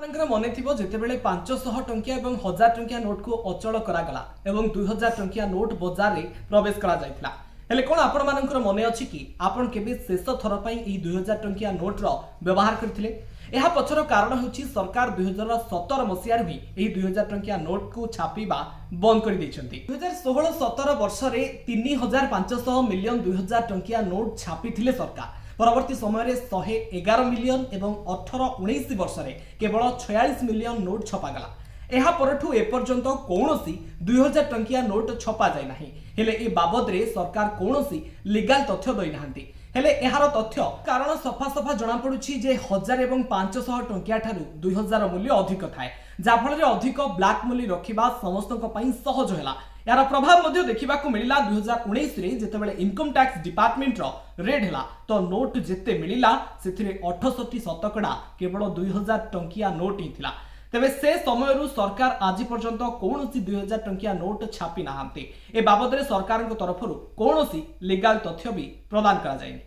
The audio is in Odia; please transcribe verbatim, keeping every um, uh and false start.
ଆପଣଙ୍କର ମନେ ଥିବ, ଯେତେବେଳେ ପାଞ୍ଚଶହ ଟଙ୍କିଆ ଏବଂ ହଜାର ଟଙ୍କିଆ ନୋଟକୁ ଅଚଳ କରାଗଲା ଏବଂ ଦୁଇ ହଜାର ଟଙ୍କିଆ ନୋଟ ବଜାରରେ ପ୍ରବେଶ କରାଯାଇଥିଲା। ହେଲେ କ'ଣ ଆପଣମାନଙ୍କର ମନେ ଅଛି କି ଆପଣ କେବେ ଶେଷ ଥର ପାଇଁ ଏହି ଦୁଇ ହଜାର ଟଙ୍କିଆ ନୋଟର ବ୍ୟବହାର କରିଥିଲେ? ଏହା ପଛର କାରଣ ହେଉଛି ସରକାର ଦୁଇ ହଜାର ସତର ମସିହାରୁ ହିଁ ଏହି ଦୁଇ ହଜାର ଟଙ୍କିଆ ନୋଟକୁ ଛାପିବା ବନ୍ଦ କରିଦେଇଛନ୍ତି। ଦୁଇ ହଜାର ଷୋହଳ ସତର ବର୍ଷରେ ତିନି ହଜାର ପାଞ୍ଚଶହ ମିଲିୟନ ଦୁଇ ହଜାର ଟଙ୍କିଆ ନୋଟ ଛାପିଥିଲେ ସରକାର। ପରବର୍ତ୍ତୀ ସମୟରେ ଶହେ ଏଗାର ମିଲିୟନ ଏବଂ ଅଠର ଉଣେଇଶ ବର୍ଷରେ କେବଳ ଛୟାଳିଶ ମିଲିୟନ ନୋଟ ଛପାଗଲା। ଏହା ପରଠୁ ଏପର୍ଯ୍ୟନ୍ତ କୌଣସି ଦୁଇ ହଜାର ଟଙ୍କିଆ ନୋଟ ଛପା ଯାଇନାହିଁ। ହେଲେ ଏ ବାବଦରେ ସରକାର କୌଣସି ଲିଗାଲ ତଥ୍ୟ ଦେଇନାହାନ୍ତି। ହେଲେ ଏହାର ତଥ୍ୟ କାରଣ ସଫା ସଫା ଜଣାପଡୁଛି ଯେ ହଜାର ଏବଂ ପାଞ୍ଚଶହ ଟଙ୍କିଆ ଠାରୁ ଦୁଇ ହଜାର ମୂଲ୍ୟ ଅଧିକ ଥାଏ, ଯାହାଫଳରେ ଅଧିକ ବ୍ଲାକ୍ ମନି ରଖିବା ସମସ୍ତଙ୍କ ପାଇଁ ସହଜ ହେଲା। ଏହାର ପ୍ରଭାବ ମଧ୍ୟ ଦେଖିବାକୁ ମିଳିଲା ଦୁଇ ହଜାର ଉଣେଇଶରେ, ଯେତେବେଳେ ଇନକମ୍ ଟ୍ୟାକ୍ସ ଡିପାର୍ଟମେଣ୍ଟର ରେଡ୍ ହେଲା ତ ନୋଟ ଯେତେ ମିଳିଲା ସେଥିରେ ଅଠଷଠି ଶତକଡ଼ା କେବଳ ଦୁଇ ହଜାର ଟଙ୍କିଆ ନୋଟ ହିଁ ଥିଲା। ତେବେ ସେ ସମୟରୁ ସରକାର ଆଜି ପର୍ଯ୍ୟନ୍ତ କୌଣସି ଦୁଇ ହଜାର ଟଙ୍କିଆ ନୋଟ ଛାପି ନାହାନ୍ତି। ଏ ବାବଦରେ ସରକାରଙ୍କ ତରଫରୁ କୌଣସି ଲିଗାଲ ତଥ୍ୟ ବି ପ୍ରଦାନ କରାଯାଇନି।